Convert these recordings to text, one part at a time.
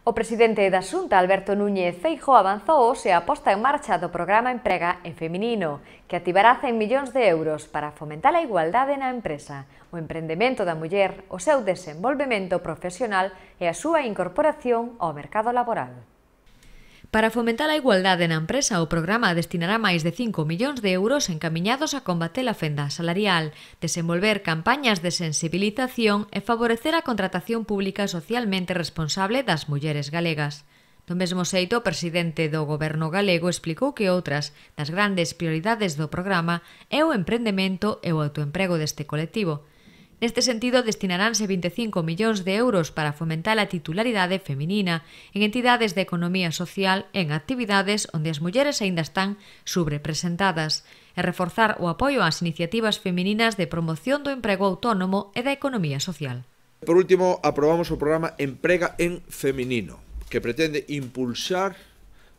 O presidente da Xunta, Alberto Núñez Feijóo, avanzou hoxe a posta en marcha do programa Emprega en Feminino, que activará 100 millóns de euros para fomentar a igualdade na empresa, o emprendemento da muller, o seu desenvolvemento profesional e a súa incorporación ao mercado laboral. Para fomentar a igualdade na empresa, o programa destinará máis de 5 millóns de euros encamiñados a combater a fenda salarial, desenvolver campañas de sensibilización e favorecer a contratación pública socialmente responsable das mulleres galegas. Do mesmo xeito, o presidente do Goberno galego explicou que outras das grandes prioridades do programa é o emprendemento e o autoemprego deste colectivo. Neste sentido, destinaránse 25 millóns de euros para fomentar a titularidade feminina en entidades de economía social e en actividades onde as mulleres aínda están subrepresentadas e reforzar o apoio ás iniciativas femininas de promoción do emprego autónomo e da economía social. Por último, aprobamos o programa Emprega en Feminino, que pretende impulsar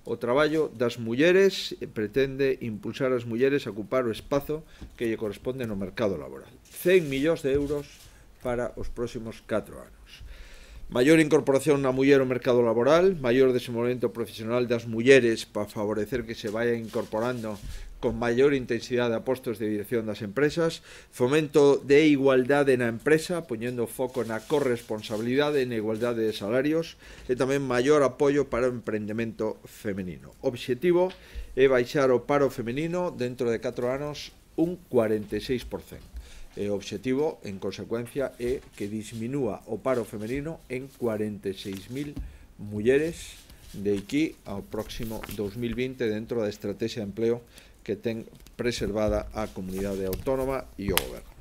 o traballo das mulleres, pretende impulsar as mulleres a ocupar o espazo que lle corresponde no mercado laboral. 100 millóns de euros para os próximos 4 anos. Maior incorporación na muller ao mercado laboral, maior desenvolvemento profesional das mulleres para favorecer que se vayan incorporando con maior intensidade a postos de dirección das empresas, fomento de igualdade na empresa, poñendo foco na corresponsabilidade e na igualdade de salarios, e tamén maior apoio para o emprendemento femenino. O obxectivo é baixar o paro femenino dentro de 4 anos un 46%. E o obxectivo, en consecuencia, é que disminúa o paro femenino en 46.000 mulleres de aquí ao próximo 2020 dentro da estrategia de empleo que ten preservada a comunidade autónoma e o goberno.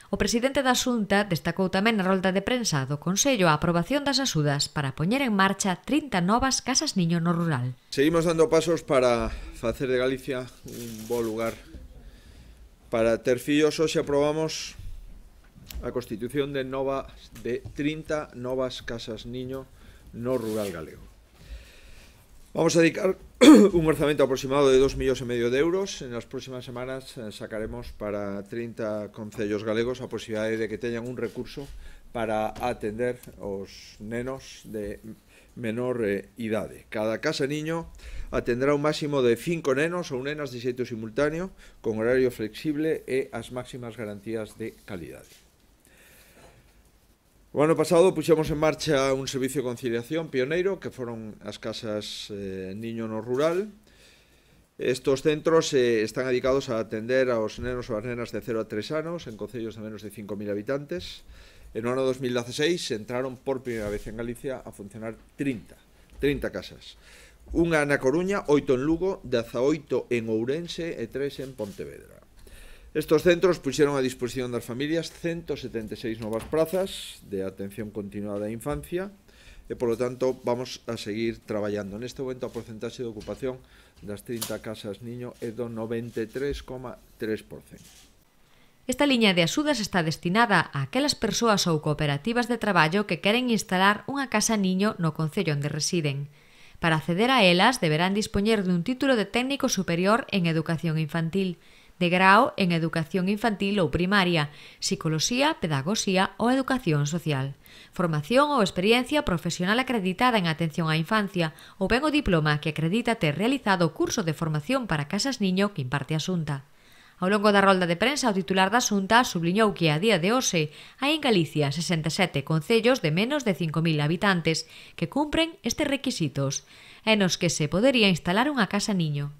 O presidente da Xunta destacou tamén na rolda de prensa do Consello a aprobación das axudas para poñer en marcha 30 novas casas niño no rural. Seguimos dando pasos para facer de Galicia un bo lugar para ter fillos. Hoxe aprobamos a constitución de 30 novas casas niño no rural galego. Vamos a dedicar un orzamento aproximado de 2,5 millóns de euros. En as próximas semanas sacaremos para 30 concellos galegos a posibilidade de que teñan un recurso para atender os nenos de menor idade. Cada casa niño atendrá un máximo de 5 nenos ou nenas de xeito simultáneo, con horario flexible e as máximas garantías de calidade. O ano pasado puxemos en marcha un servicio de conciliación pioneiro, que foron as casas niño no rural. Estos centros están dedicados a atender aos nenos ou as nenas de 0 a 3 anos en concellos de menos de 5.000 habitantes. En o ano 2016 entraron por primeira vez en Galicia a funcionar 30 casas. Unha na Coruña, 8 en Lugo, 18 en Ourense e 3 en Pontevedra. Estos centros puxeron a disposición das familias 176 novas prazas de atención continuada á infancia e, polo tanto, vamos a seguir traballando. Neste momento, a porcentaxe de ocupación das 30 casas niño é do 93,3%. Esta liña de axudas está destinada a aquelas persoas ou cooperativas de traballo que queren instalar unha casa niño no concello onde residen. Para acceder a elas, deberán dispoñer dun título de técnico superior en educación infantil, de grao en educación infantil ou primaria, psicoloxía, pedagogía ou educación social, formación ou experiencia profesional acreditada en atención á infancia ou ben o diploma que acredita ter realizado o curso de formación para casas niño que imparte a Xunta. Ao longo da rolda de prensa, o titular da Xunta subliñou que a día de hoxe hai en Galicia 67 concellos de menos de 5.000 habitantes que cumpren estes requisitos e nos que se podería instalar unha casa niño.